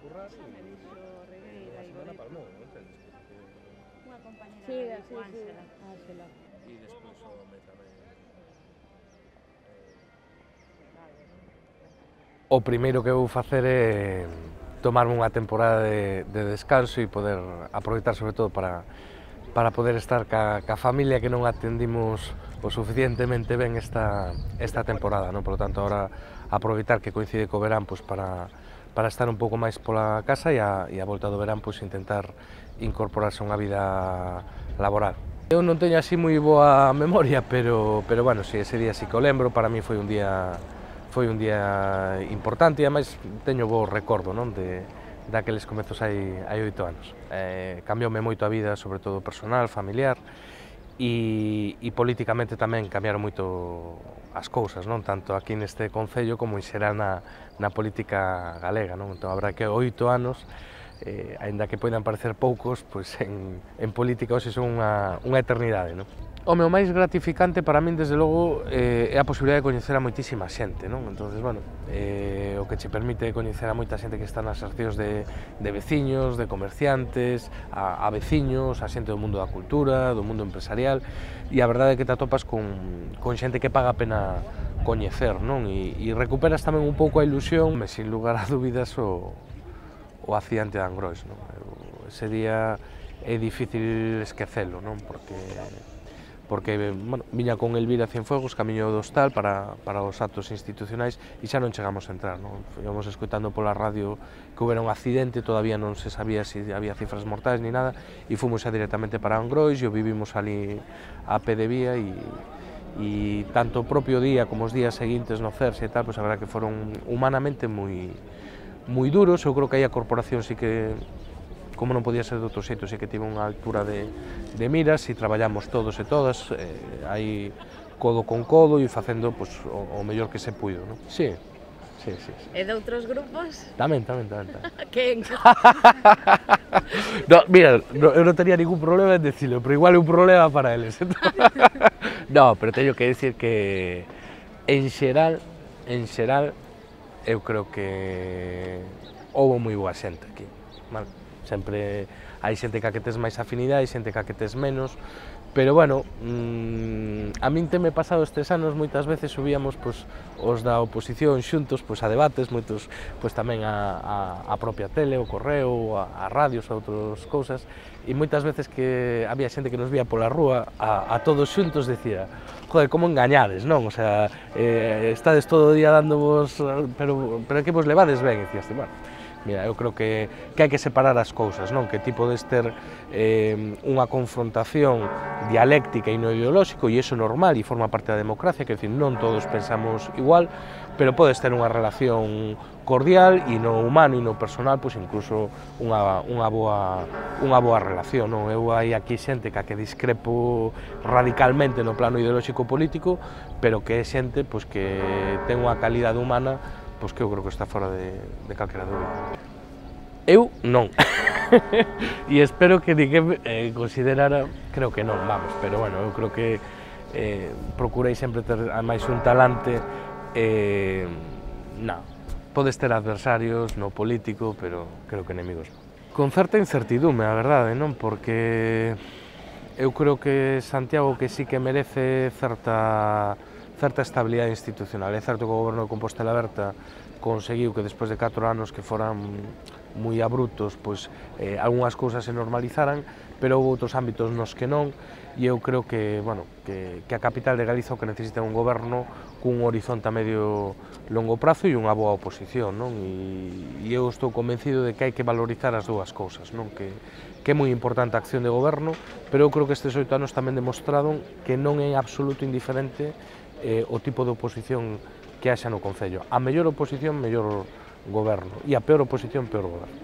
currar Xa me dixo Regueira a e semana Goreto. palmou, non entendes? Unha compañera Sí, de sí, sí, Ángela. Ángela. E despois o home tamén... O primeiro que vou facer é tomarme unha temporada de descanso e poder aproveitar sobre todo para poder estar ca familia que non atendimos o suficientemente ben esta temporada, non? Por lo tanto, ahora aproveitar que coincide co verán pois, para estar un pouco máis pola casa e a volta do verán pois, intentar incorporarse a unha vida laboral. Eu non teño así moi boa memoria, pero bueno, si ese día sí que o lembro, para mí foi un día importante e ademais teño bo recordo, non? Daqueles comezos hai 8 anos. Cambioume moito a vida, sobre todo personal, familiar, e políticamente tamén cambiaron moito as cousas, non? Tanto aquí neste concello como en xeral na política galega, non? Entón, a verdade que 8 anos, aínda que poidan parecer poucos, pois en política hoxe son unha eternidade, non? O meu máis gratificante para min, desde logo, é a posibilidade de coñecer a moitísima xente, non? Entonces, bueno, o que che permite coñecer a moita xente que está nas asociacións de veciños, de comerciantes, a veciños, a xente do mundo da cultura, do mundo empresarial, e a verdade é que te atopas con xente que paga a pena coñecer, non? E recuperas tamén un pouco a ilusión, sin lugar a dúbidas, o accidente de Angrois, non? Ese día é difícil esquecelo, non? Porque bueno, viña con Elvira Cienfuegos, camiño do hostal para os actos institucionais e xa non chegamos a entrar, non? Íbamos escoitando pola radio que houbera un accidente, todavía non se sabía se había cifras mortais ni nada, e fomos xa directamente para Angrois e o vivimos ali a pé de vía e tanto o propio día como os días seguintes no CERSE e tal, pois a verdade que foron humanamente moi duros. Eu creo que aí a corporación sí que, como non podía ser de outro xeito, sí que tive unha altura de miras e traballamos todos e todas aí codo con codo e facendo pois, o mellor que se puido, non? Sí. E de outros grupos? Tamén. Quen? No, mira, eu non tenía ningún problema en decirlo, pero igual é un problema para eles. No, pero teño que decir que en xeral, eu creo que houve moi boa xente aquí, vale? Sempre hai xente ca que tes máis afinidade, hai xente ca que tes menos, pero bueno, a min teme pasado estes anos, moitas veces subíamos pois, os da oposición xuntos pois, a debates, moitos pois, tamén a propia tele, o correo, a radios, a outras cousas, e moitas veces que había xente que nos vía pola rúa, a todos xuntos decía, joder, como engañades, non? O sea, estades todo o día dándovos, pero é que vos levades ben, e dicías, bueno, mira, eu creo que hai que separar as cousas, non? Que ti podes ter unha confrontación dialéctica e non ideolóxico, e iso é normal e forma parte da democracia, que decir, non todos pensamos igual, pero podes ter unha relación cordial e no humano e no personal, pois incluso unha boa relación, non? Eu hai aquí xente ca que discrepo radicalmente no plano ideolóxico político, pero que é xente pois, que ten unha calidade humana pois que eu creo que está fora de calquera dúbida. Eu non. E espero que ninguén considerara, creo que non, vamos, pero bueno, eu creo que procurei sempre ter máis un talante, non, podes ter adversarios no político, pero creo que enemigos non. Con certa incertidume, a verdade, non? Porque eu creo que Santiago que sí que merece certa estabilidade institucional. É certo que o goberno de Compostela Aberta conseguiu que despois de 4 anos que foran moi abruptos, pois algunhas cousas se normalizaran, pero houve outros ámbitos nos que non, e eu creo que, bueno, que a capital de Galiza o que necesita é un goberno cun horizonte a medio longo prazo e unha boa oposición, non? E eu estou convencido de que hai que valorizar as dúas cousas, non? Que é moi importante a acción de goberno, pero eu creo que estes 8 anos tamén demostraron que non é absoluto indiferente o tipo de oposición que haxa no Concello. A mellor oposición, mellor goberno, e a peor oposición, peor goberno.